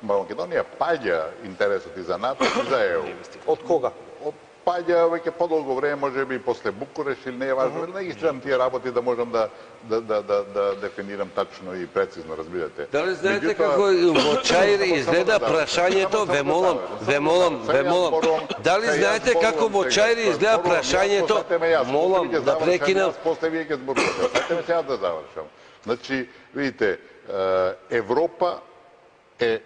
Македонија паѓа интересот и за НАТО и за ЕУ. Од кога? Паѓа веќе подолго време, можеби после Букуреш или не е важно, не ги следам тие работи да можам да дефинирам тачно и прецизно, разбирате. Дали знаете како во Чаир изгледа прашањето, ве молам. Дали знаете како во Чаир изгледа прашањето? Молам да прекинам. После вие ќе зборувате. Сетеме сега да завршам. Значи, видите, Европа е,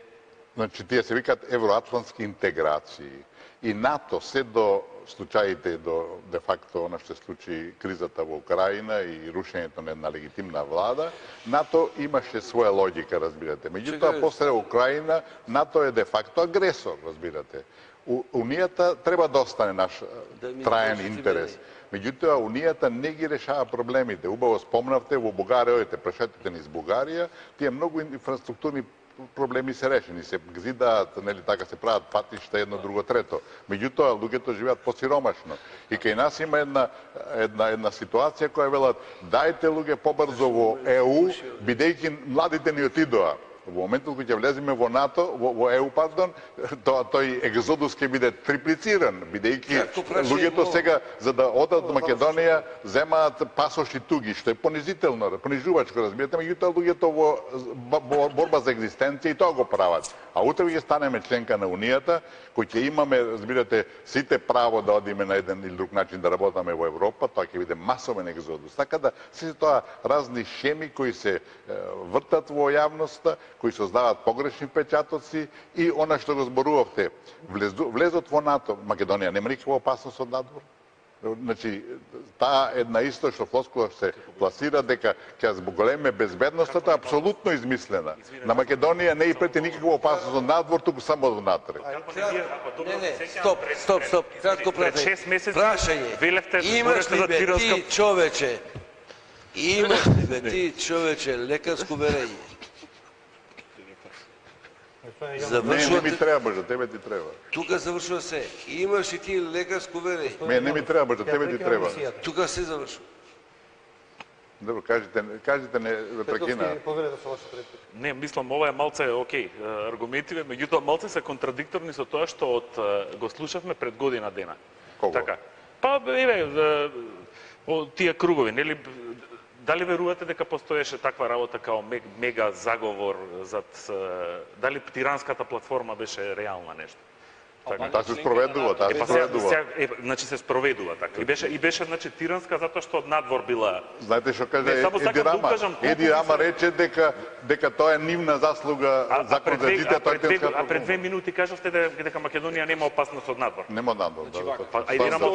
значи тие се викаат евроатлантски интеграции. И НАТО се до случаите до де факто она што се случи кризата во Украина и рушењето на една легитимна влада, НАТО имаше своја логика, разбирате. Меѓутоа после Украина НАТО е де факто агресор, разбирате. Унијата треба да остане наш траен интерес. Меѓутоа Унијата не ги решава проблемите. Убаво спомнавте во Бугарија, прашете низ Бугарија, тие многу инфраструктурни проблеми се решени, се гзидаат, нели така се прават патишта едно, друго, трето. Меѓутоа луѓето живеат посиромашно. И кај нас има една ситуација која велат дајте луѓе побрзо во ЕУ, бидејќи младите ни отидоа. Во моментот кога ќе влеземе во НАТО, во ЕУ, пардон, тој екзодус ќе биде триплициран, бидејќи луѓето сега за да одат до Македонија земаат пасоши туги, што е понизително, понижувачко, разбирате, меѓутоа луѓето во борба за екзистенција и тоа го прават. А утре ќе станеме членка на Унијата, кој ќе имаме, разбирате, сите право да одиме на еден или друг начин да работаме во Европа, тоа ќе биде масовен екзодус. Така да се тоа разни шеми кои се вртат во јавноста, кои создаваат погрешни впечатоци и она што го зборувавте, влезот во НАТО, Македонија нема никаква опасност од надвор. Значи, таа една исто што флоскула се пласира дека ќе зголеме безбедноста, апсолутно измислена. На Македонија не и прети никаква опасност од надвор, туку само од внатре. Стоп, кратко прашање. Имаш ли бе ти човече лекарско верење? Не ми треба, за тебе ти треба. Тука завршува се. Имаш ли ти лекарско верење? Не ми треба, за тебе ти треба. Тука се завршува. Добро, кажете не прекина. Не, мислам ова е малце окей, аргументиве, меѓутоа малце се контрадикторни со тоа што го слушавме пред година дена. Кого? Така. Па еве тие кругови, нели дали верувате дека постоеше таква работа као мега заговор зад дали тиранската платформа беше реална нешто? Таа се спроведува, Значи се спроведува така. И беше значи тиранска затоа што од надвор била. Знаете што каже Еди Рама рече дека тоа е нивна заслуга закон за дите, а пред 2 минути кажавте дека Македонија нема опасност од надвор. Нема надвор, да. Еди Рама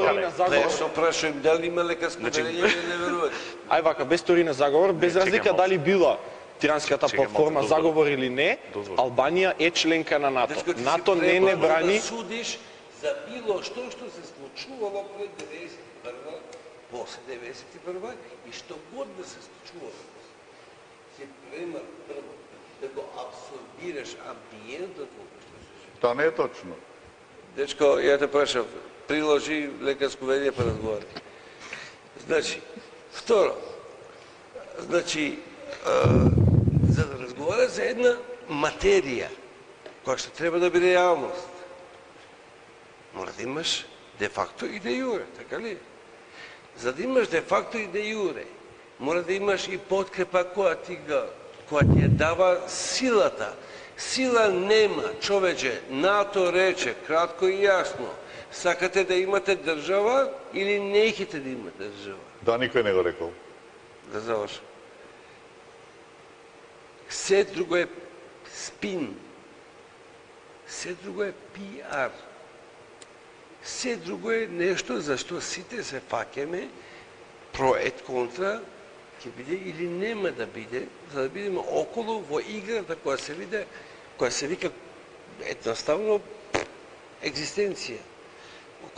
Не, што прашувам дали има лекарско верење или не верувате? Ај вака, без теорија на заговор, без разлика дали била тиранската платформа заговор или не, Албанија е членка на НАТО. НАТО не брани. Да судиш за било што се случувало пред 91-ва, после 91-ва и што год да се случувало. Се према прво да го абсорбираш амбиентот во кој што се живее. Тоа не е точно. Дечко, ја те прашав, приложи лекарско верење па разговари. Значи, второ, значи, за да разговара за една материја која што треба да биде реалност, мора да имаш де факто и де јуре, така ли? За да имаш де факто и де јуре, мора да имаш и подкрепа која ти ја дава силата. Сила нема, човече, НАТО рече, кратко и јасно, сакате да имате држава или не искате да имате држава? Да, никој не го рекол. Да завршам. Се друго е спин. Се друго е пиар. Се друго е нешто за што сите се фаќаме, про ет контра, ќе биде или нема да биде, за да бидеме околу во играта која се вика едноставно екзистенција.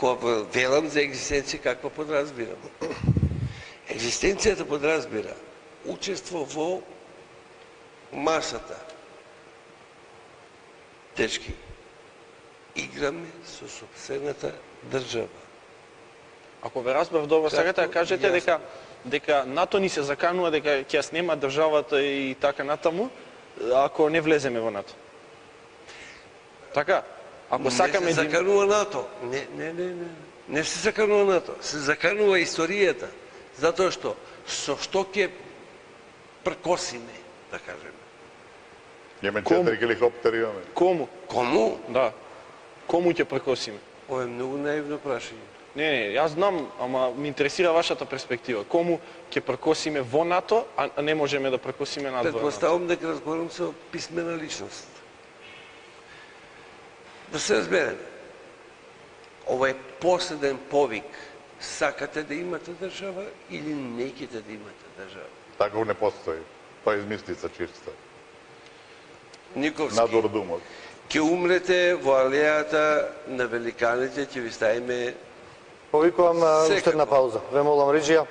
Кога велам за екзистенција, каква подразбирам? Екзистенцијата подразбира учество во масата. Дечки, играме со сопствената држава. Ако ве разбрав добро, сакате да кажете дека НАТО ни се заканува дека ќе ја снема државата и така натаму, ако не влеземе во НАТО. Така? Ако сакаме не се заканува НАТО. Не се заканува НАТО. Се заканува историјата. Затоа што со што ќе пркосиме, да кажеме. Имаме 4 хеликоптери, имаме. Кому? Кому? Да. Кому ќе прекосиме? Ова е многу наивно прашање. Не, јас знам, ама ми интересира вашата перспектива. Кому ќе прекосиме во НАТО, а не можеме да прекосиме надвор? Предпоставам дека разговарам со писмена личност. Да се разбереме. Ова е последен повик. Сакате да имате држава или не ќете да имате држава? Таков не постои. Тоа е измислица чиста. Никовски. Надвор думот. Ќе умрете во алејата на великаните, ќе ви ставиме Повикувам уште една пауза. Ве молам, Риджија.